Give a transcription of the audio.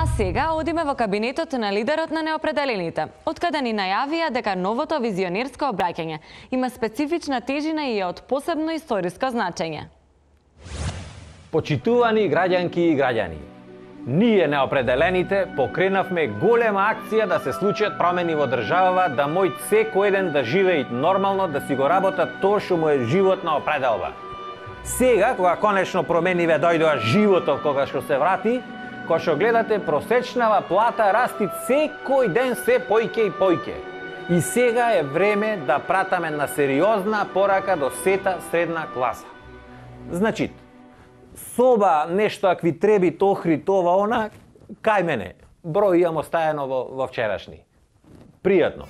А сега одиме во кабинетот на лидерот на неопределените, откаде ни најавија дека новото визионерско обраќање има специфична тежина и е од посебно историско значење. Почитувани граѓанки и граѓани, ние неопределените покренавме голема акција да се случат промени во државава, да мој секој еден да живеат нормално, да си го работат тоа што му е животна определба. Сега, кога конечно промениве дојдоа животот кога што се врати, кога што гледате просечнава плата расти секој ден се појќе и појќе. И сега е време да пратаме на сериозна порака до сета средна класа. Значи, соба, нешто ако ви треби тохри, това, она, кај мене. Број имам оставено во вчерашни. Пријатно.